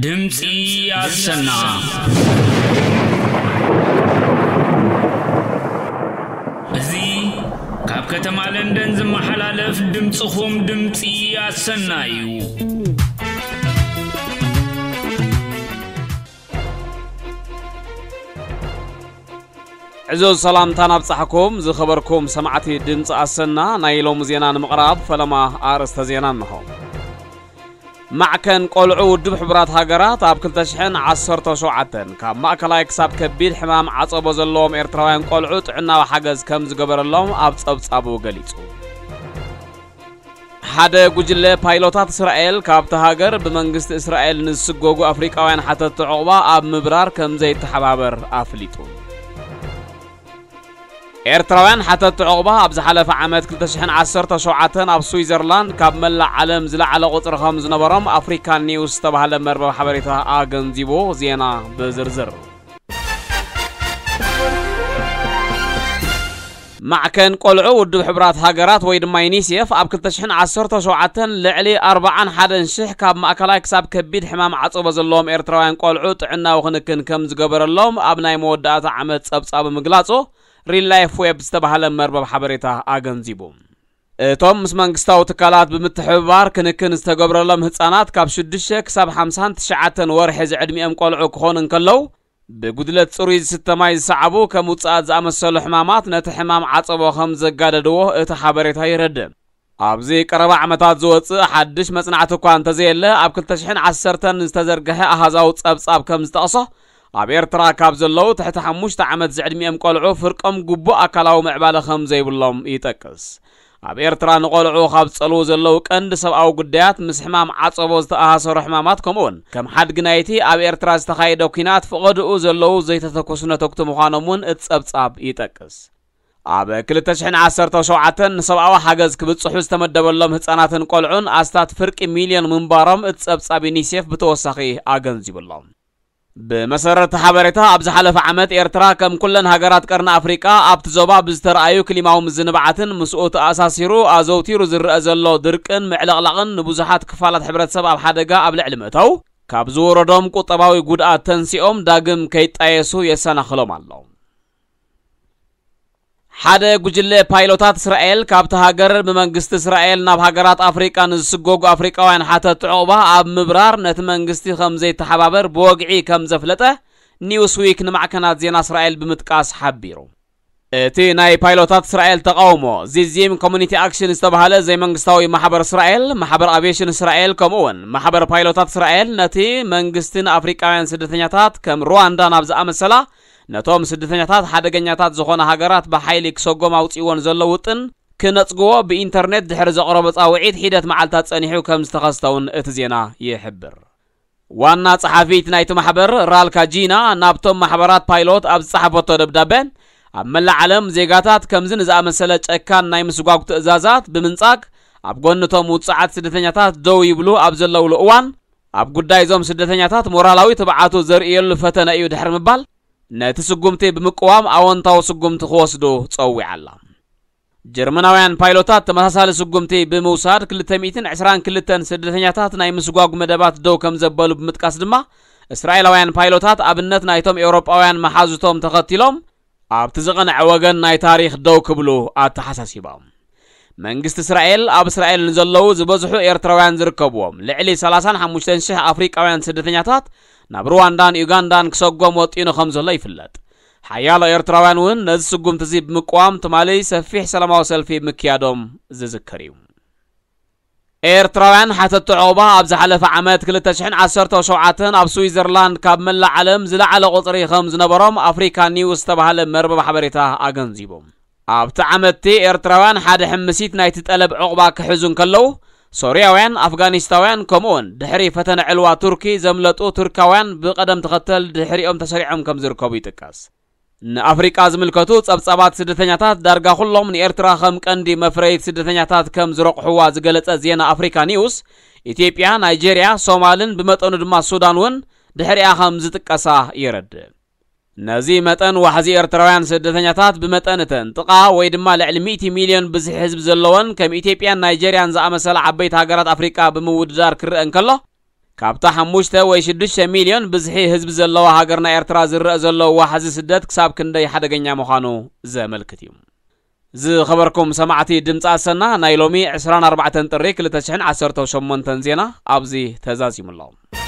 ድምፂ ኣሰና። እዚ ካብ ከተማ ለንደን ዝመሓላለፍ ድምፅኹም ድምፂ ኣሰና እዩ። ዕዙዝ ሰላምታን ኣብጻሕኩም ዝኸበርኩም ሰማዕቲ ድምፂ ኣሰና። ናይ ሎሚ ዜና ንምቕራብ ፈለማ ኣርእስተ ዜና እንሆ። ማዕከን ቆልዑ ውድብ ሕቡራት ሃገራት ኣብ ክልተ ሽሕን ዓሰርተ ሸውዓተን ካብ ማእከላይ ክሳብ ከቢድ ሕማም ዓጸቦ ዘለዎም ኤርትራውያን ቆልዑ ጥዕናዊ ሓገዝ ከም ዝገበረሎም ኣብ ጸብጻቡ ገሊጹ። ሓደ ጉጅለ ፓይሎታት እስራኤል ካብቲ ሃገር ብመንግስቲ እስራኤል ንዝስጎጉ ኣፍሪቃውያን ሓተቲ ዑቕባ ኣብ ምብራር ከም ዘይተሓባበር ኣፍሊጡ። ኤርትራውያን ሓተቲ ዑቕባ ኣብ ዝሓለፈ ዓመት ክልተ ሽሕን ዓሰርተ ሸውዓተን ኣብ ስዊዘርላንድ ካብ መላእ ዓለም ዝለዓለ ቁጽሪ ከም ዝነበሮም ኣፍሪካን ኒውስ ዝተባህለ መርበብ ሓበሬታ ኣገንዚቡ። ዜና ብዝርዝር። ማዕከን ቆልዑ ውድብ ሕቡራት ሃገራት ወይ ድማ ዩኒሴፍ ኣብ ክልተ ሽሕን ዓሰርተ ሸውዓተን ልዕሊ ኣርብዓን ሓደን ሽሕ ካብ ማእከላይ ክሳብ ከቢድ ሕማም ዓጸቦ ዘለዎም ኤርትራውያን ቆልዑ ጥዕናዊ ክንክን ከም ዝገበረሎም ኣብ ናይ መወዳእታ ዓመት ጸብጻቡ ምግላጹ ሪል ላይፍ ዌብ ዝተባህለ መርበብ ሓበሬታ ኣገንዚቡ። እቶም ምስ መንግስታዊ ትካላት ብምትሕብባር ክንክን ዝተገብረሎም ህጻናት ካብ ሽዱሽተ ክሳብ ሓምሳን ትሽዓተን ወርሒ ዝዕድሚኦም ቆልዑ ክኾኑ እንከለዉ፣ ብጉድለት ጽሩይ ዝስተ ማይ ዝሰዓቡ ከም ውጽኣት ዝኣመሰሉ ሕማማት ነቲ ሕማም ዓጸቦ ከም ዘጋደድዎ እቲ ሓበሬታ የረድእ። ኣብዚ ቀረባ ዓመታት ዝወጽእ ሓድሽ መጽናዕቲ እኳ እንተዘየለ፣ ኣብ ክልተ ሽሕን ዓሰርተን ዝተዘርግሐ ኣሃዛዊ ጸብጻብ ከም ዝጠቕሶ፣ ኣብ ኤርትራ ካብ ዘለዉ ትሕቲ ሓሙሽተ ዓመት ዝዕድሚኦም ቆልዑ ፍርቆም ግቡእ ኣካላዊ ምዕባለ ከም ዘይብሎም ይጠቅስ። ኣብ ኤርትራ ንቆልዑ ካብ ዝጸልዉ ዘለዉ ቀንዲ ሰብኣዊ ጉዳያት ምስ ሕማም ዓጸቦ ዝተኣሳሰሩ ሕማማት፣ ከምኡውን ከም ሓድጊ ናይቲ ኣብ ኤርትራ ዝተኻየደ ኲናት ፍቐድኡ ዘለዉ ዘይተተኮሱ ነተኩቲ ምዃኖም እውን እቲ ጸብጻብ ይጠቅስ። ኣብ ክልተ ሽሕን ዓሰርተ ሸውዓተን ንሰብኣዊ ሓገዝ ክብጽሑ ዝተመደበሎም ህጻናትን ቆልዑን ኣስታት ፍርቂ ሚልዮን ምንባሮም እቲ ጸብጻብ ዩኒሴፍ ብተወሳኺ ኣገንዚቡ ኣሎ። ብመሰረት ሓበሬታ፣ ኣብ ዝሓለፈ ዓመት ኤርትራ ከም ኩለን ሃገራት ቀርኒ ኣፍሪቃ ኣብቲ ዞባ ብዝተረኣዩ ክሊማዊ ምዝንባዓትን ምስኡ ተኣሳሲሩ ኣዘውቲሩ ዝረአ ዘሎ ድርቅን ምዕልቕላቕን ንብዙሓት ክፋላት ሕብረተሰብ ኣብ ሓደጋ ኣብ ልዕሊ ምእታው፣ ካብ ዝወረዶም ቁጠባዊ ጉድኣት ተንሲኦም ዳግም ከይጣየሱ የሰናኽሎም ኣሎ። ሓደ ጉጅለ ፓይሎታት እስራኤል ካብቲ ሃገር ብመንግስቲ እስራኤል ናብ ሃገራት ኣፍሪቃ ንዝስጎጉ ኣፍሪቃውያን ሓተቲ ዑቕባ ኣብ ምብራር ነቲ መንግስቲ ከም ዘይተሓባበር ብወግዒ ከም ዘፍለጠ ኒውስዊክ ንማዕከናት ዜና እስራኤል ብምጥቃስ ሓቢሩ። እቲ ናይ ፓይሎታት እስራኤል ተቃውሞ ዚዚም ኮሚኒቲ ኣክሽን ዝተባህለ ዘይመንግስታዊ ማሕበር እስራኤል፣ ማሕበር ኣቪዬሽን እስራኤል፣ ከምኡ እውን ማሕበር ፓይሎታት እስራኤል ነቲ መንግስቲ ንኣፍሪቃውያን ስደተኛታት ከም ሩዋንዳ ናብ ዝኣመሰላ ነቶም ስደተኛታት ሓደገኛታት ዝኾነ ሃገራት ብሓይሊ ክሰጎም ኣውጺእዎን ዘሎ ውጥን ክነጽግዎ ብኢንተርኔት ድሕሪ ዘቕረቦ ጻውዒት ሒደት መዓልታት ጸኒሑ ከም ዝተኸስተ እውን እቲ ዜና ይሕብር። ዋና ጸሓፊት ናይቲ ማሕበር ራልካ ጂና ናብቶም ማሕበራት ፓይሎት ኣብ ዝጸሓፈቶ ደብዳበ፣ ኣብ መላእ ዓለም ዜጋታት ከምዚ ንዝኣመሰለ ጨካን ናይ ምስጓግ ትእዛዛት ብምንጻግ ኣብ ጎንቶም ውጽዓት ስደተኛታት ደው ይብሉ ኣብ ዘለውሉ እዋን፣ ኣብ ጉዳይ እዞም ስደተኛታት ሞራላዊ ትብዓቱ ዘርእየሉ ፈተነ እዩ ድሕሪ ምባል፣ ነቲ ስጉምቲ ብምቅዋም ኣወንታዊ ስጉምቲ ክወስዱ ጸዊዓ ኣላ። ጀርመናውያን ፓይሎታት ተመሳሳሊ ስጉምቲ ብምውሳድ ክልተ ሚእትን ዕስራን ክልተን ስደተኛታት ናይ ምስጓጉ መደባት ደው ከም ዘበሉ ብምጥቃስ ድማ፣ እስራኤላውያን ፓይሎታት ኣብነት ናይቶም ኤውሮጳውያን መሓዙቶም ተኸቲሎም ኣብቲ ዝቐንዐ ወገን ናይ ታሪኽ ደው ክብሉ ኣተሓሳሲቦም። መንግስቲ እስራኤል ኣብ እስራኤል ንዘለዉ ዝበዝሑ ኤርትራውያን ዝርከብዎም ልዕሊ ሰላሳን ሓሙሽተን ሽሕ ኣፍሪቃውያን ስደተኛታት ናብ ሩዋንዳን ዩጋንዳን ክሰጎም ወጢኑ ከም ዘሎ ይፍለጥ። ሓያሎ ኤርትራውያን እውን ነዚ ስጉምቲ እዚ ብምቅዋም ትማሊ ሰፊሕ ሰላማዊ ሰልፊ ምክያዶም ዝዝከር እዩ። ኤርትራውያን ሓተቲ ዑቕባ ኣብ ዝሓለፈ ዓመት ክልተ ሽሕን ዓሰርተ ሸውዓተን ኣብ ስዊዘርላንድ ካብ መላእ ዓለም ዝለዓለ ቁጽሪ ከም ዝነበሮም ኣፍሪካ ኒውስ ዝተባህለ መርበብ ሓበሬታ ኣገንዚቡ። ኣብቲ ዓመትቲ ኤርትራውያን ሓደ ሕምሲት ናይቲ ጠለብ ዑቕባ ክሕዙ እንከለዉ፣ ሶርያውያን፣ ኣፍጋኒስታውያን፣ ከምኡውን ድሕሪ ፈተነ ዕልዋ ቱርኪ ዘምለጡ ቱርካውያን ብቐደም ተኸተል ድሕሪኦም ተሰሪዖም ከም ዝርከቡ ይጥቀስ። ንኣፍሪቃ ዝምልከቱ ጸብጻባት ስደተኛታት ዳርጋ ኩሎም ንኤርትራ ከም ቀንዲ መፍረይት ስደተኛታት ከም ዝረቑሕዋ ዝገለጸ ዜና ኣፍሪካ ኒውስ፣ ኢትዮጵያ፣ ናይጄርያ፣ ሶማልን ብመጠኑ ድማ ሱዳን እውን ድሕሪኣ ከም ዝጥቀሳ የረድእ። ነዚ መጠን ዋሕዚ ኤርትራውያን ስደተኛታት ብመጠን እተን ጥቓ ወይ ድማ ልዕሊ ሚእቲ ሚልዮን ብዝሒ ህዝቢ ዘለወን ከም ኢትዮጵያን ናይጄርያን ዝኣመሰላ ዓበይቲ ሃገራት ኣፍሪቃ ብምውድዳር ክረአ እንከሎ፣ ካብታ ሓሙሽተ ወይ ሽዱሽተ ሚልዮን ብዝሒ ህዝቢ ዘለዋ ሃገርና ኤርትራ ዝረኣ ዘሎ ዋሕዚ ስደት ክሳብ ክንደይ ሓደገኛ ምዃኑ ዘመልክት እዩ። ዝኸበርኩም ሰማዕቲ ድምፂ ኣሰና፣ ናይ ሎሚ ዕስራን ኣርባዕተን ጥሪ ክልተ ሽሕን ዓሰርተን ሸሞንተን ዜና ኣብዚ ተዛዚሙ ኣሎ።